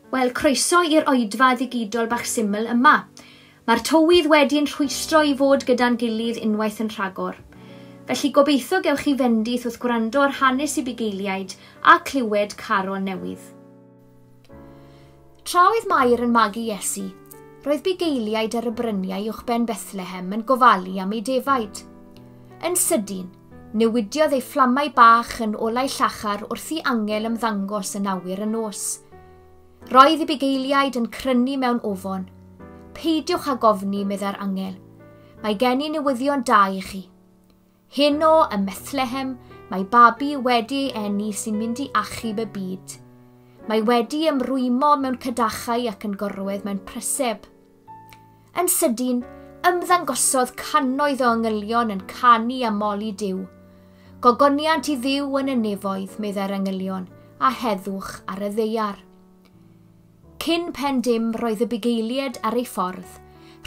Wel, croeso i'r oedfa ddigidol bach syml yma. Mae'r tywydd wedi'n rhwystro i fod gyda'n gilydd unwaith yn rhagor. Felly gobeithio gewch chi fendith wrth gwrando ar hanes y bugeiliaid a clywed carol newydd. Tra oedd Mair yn magu Iesu, roedd bugeiliaid ar y bryniau uwchben Bethlehem yn gofalu am ei defaid. Yn sydyn, newidiodd ei fflamau bach yn olau llachar wrth i angel ymddangos yn awyr y nos. Roedd y bugeiliaid yn crynu mewn ofon. Peidiwch â gofni, meddai'r angel. Mae gen i newyddion da i chi. Heno ym Methlehem, mae babi wedi ei eni sy'n mynd i achub y byd. Mae wedi ymrwymo mewn cadachau ac yn gorwedd mewn preseb. Yn sydyn, ymddangosodd cannoedd o angylion yn canu a moli Duw. Gogoniant i Dduw yn y nefoedd, meddai'r angylion, a heddwch ar y ddaear. Cyn pen dim roedd y bugeiliaid ar ei ffordd.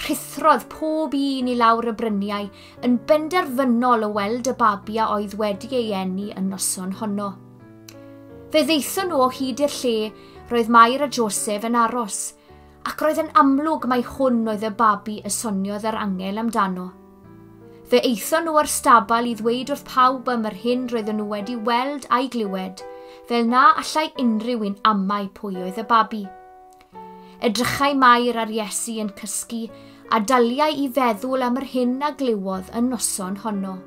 Rhuthrodd pob un i lawr y bryniau yn benderfynol o weld y babi a oedd wedi ei eni y noson honno. Fe ddaethon nhw o hyd i'r lle roedd Mair a Joseph yn aros, ac roedd yn amlwg mai hwn oedd y babi y soniodd yr angel amdano. Fe aethon nhw o'r stabal i ddweud wrth pawb am yr hyn roedden nhw wedi weld a'i glywed, fel na allai unrhyw un amau pwy oedd y babi. Edrychai Mair ar Iesu yn cysgu a daliai i feddwl am yr hyn a glywodd y noson honno.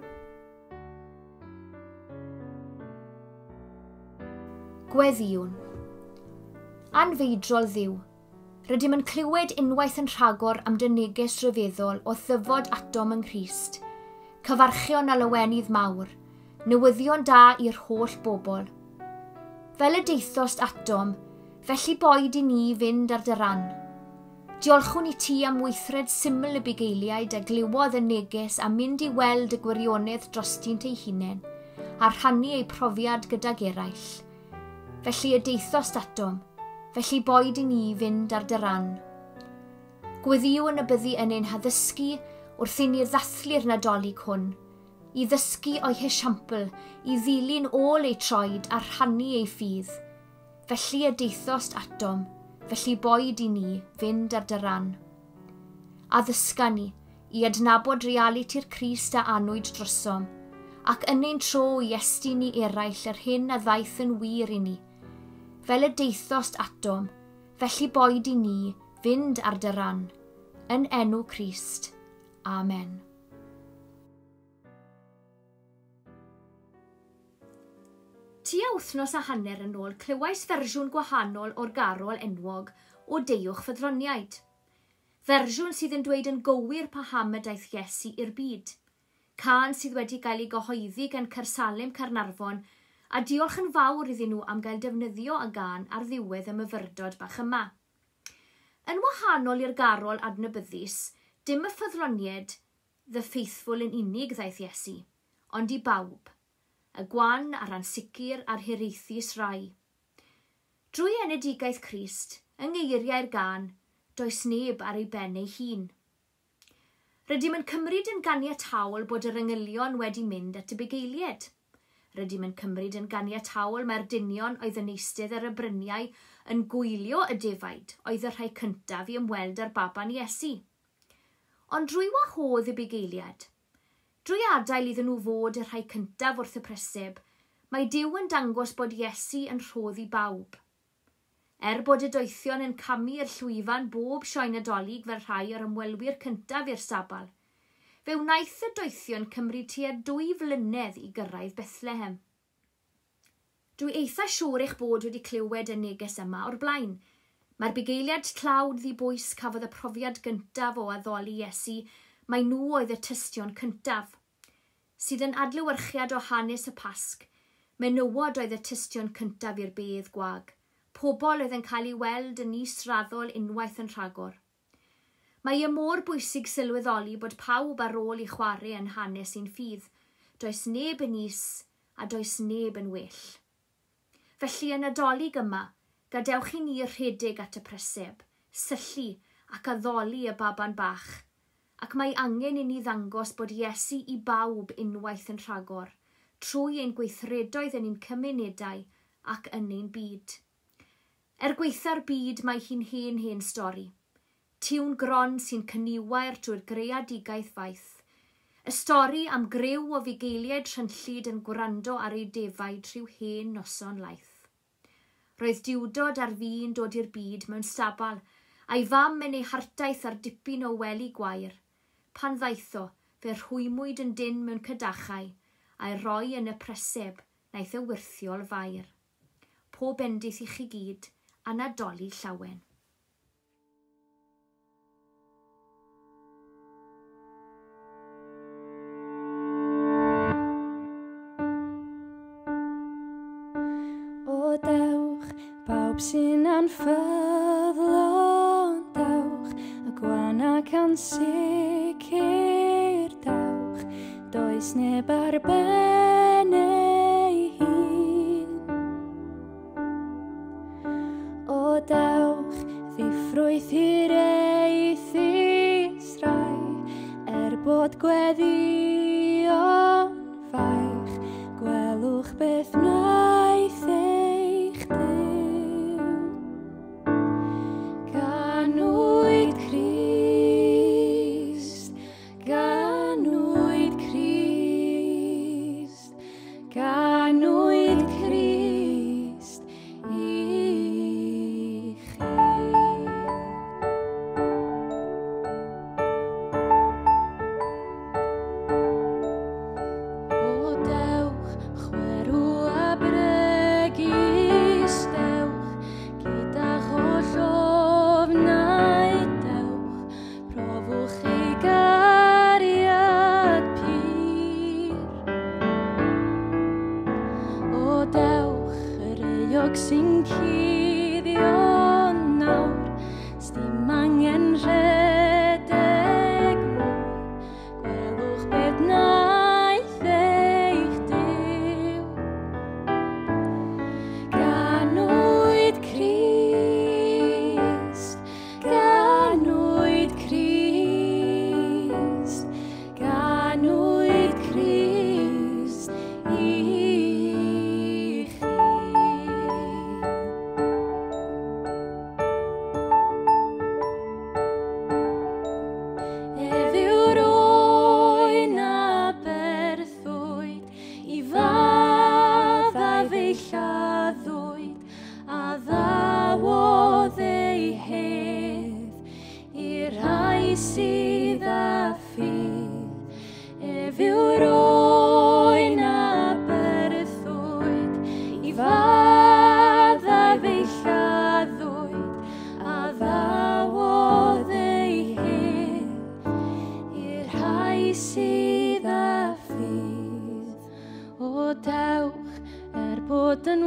Gweddïwn. Anfeidrol Dduw, rydym yn clywed unwaith yn rhagor am dy neges rhyfeddol o ddyfod atom yng Nghrist. Cyfarchion a lawenydd mawr, newyddion da i'r holl bobl. Fel y deithost atom, felly boed i ni fynd ar dy ran. Diolchwn i ti am weithred syml y bugeiliaid a glywodd y neges a mynd i weld y gwirionedd drostynt eu hunain, a rhannu eu profiad gydag eraill. Felly y deithost atom, felly boed i ni fynd ar dy ran. Gweddïwn y byddi yn ein haddysgu wrth i ni ddathlu'r Nadolig hwn, i ddysgu o'i hesiampl, i ddilyn ôl ei troed a rhannu ei ffydd. Felly y deithost atom, felly boed i ni fynd ar dy ran. Addysga ni i adnabod realiti'r Crist a anwyd drosom, ac yn ein tro i estyn i eraill yr hyn a ddaeth yn wir i ni. Fel y deithost atom, felly boed i ni fynd ar dy ran. Yn enw Crist. Amen. Tua wythnos a hanner yn ôl clywais fersiwn gwahanol o'r garol enwog o Deuwch Ffyddloniaid. Fersiwn sydd yn dweud yn gywir paham y daeth Iesu i'r byd. Cân sydd wedi gael ei gyhoeddi gan Caersalem Caernarfon, a diolch yn fawr iddyn nhw am gael defnyddio y gân ar ddiwedd y myfyrdod bach yma. Yn wahanol i'r garol adnabyddus, dim y ffyddloniaid, the faithful yn unig ddaeth Iesu, ond i bawb, y gwan a'r ansicr a'r hiraethus rai. Drwy enedigaeth Crist, yng ngeiriau'r gân, does neb ar ei ben ei hun. Rydym yn cymryd yn ganiataol bod yr angylion wedi mynd at y bugeiliaid. Rydym yn cymryd yn ganiataol mae'r dynion oedd yn eistedd ar y bryniau yn gwylio y defaid oedd y rhai cyntaf i ymweld â'r baban Iesu. Ond drwy wahodd y bugeiliaid, drwy adael iddyn nhw fod y rhai cyntaf wrth y preseb, mae Duw yn dangos bod Iesu yn rhodd i bawb. Er bod y doethion yn camu i'r llwyfan bob sioe Nadolig fel rhai o'r ymwelwyr cyntaf i'r stabal, fe wnaeth y doethion cymryd tua 2 flynedd i gyrraedd Bethlehem. Dwi eitha siŵr eich bod wedi clywed y neges yma o'r blaen. Mae'r bugeiliaid tlawd ddibwys cafodd y profiad gyntaf o addoli Iesu, mae nhw oedd y tystion cyntaf. Sydd yn adlewyrchiad o hanes y Pasg, menywod oedd y tystion cyntaf i'r bedd gwag, pobl oedd yn cael ei weld yn israddol unwaith yn rhagor. Mae e mor bwysig sylweddoli bod pawb ar ôl i chwarae yn hanes ein ffydd. Does neb yn is a does neb yn well. Felly yn Nadolig yma, gadewch i ni rhedeg at y preseb, syllu ac addoli y baban bach, ac mae angen i ni ddangos bod Iesu i bawb unwaith yn rhagor, trwy ein gweithredoedd yn ein cymunedau ac yn ein byd. gweitha'r byd mae hi'n hen hen stori. Tiwn gron sy'n cyniwair drwy'r greadigaeth faith. Y stori am griw o fugeiliaid rhynllyd yn gwrando ar ei defaid rhyw hen noson laith. Roedd diwdod ar fin dod i'r byd mewn stabal, a'i fam yn ei hartaith ar dipyn o wely gwair. Pan ddaetho, fe rhwymwyd yn dyn mewn cadachau, a'i roi yn y preseb, naeth y wyrthiol fair. Pob bendith i chi gyd, a Nadolig llawen. O dewch, pawb sy'n anffyddlon, dewch, y gwan ac ansicr, dewch, does neb ar ben ei hun. O dewch, ddiffrwyth hiraethus rai, er bod gweddïo'n faich, gwelwch beth wnaeth eich Duw. Ganwyd Crist, ganwyd Crist, ganwyd Crist i chi. O dewch, chwerw a bregus, dewch, gyda'ch holl ofnau, dewch, profwch ei gariad pur. O dewch, yr euog sy'n cuddio nawr, sdim angen rhedeg mwy, gwelwch beth wnaeth eich Duw. Ganwyd Crist, ganwyd Crist, ganwyd Crist i chi. Ef yw'r oen a berthwyd, i faddau fe'i lladdwyd, a ddawodd ei hedd i'r rhai sydd â ffydd. Ef yw'r oen a berthwyd, i faddau fe'i lladdwyd, a ddawodd ei hedd i'r rhai sydd â ffydd. O dewch, er bod yn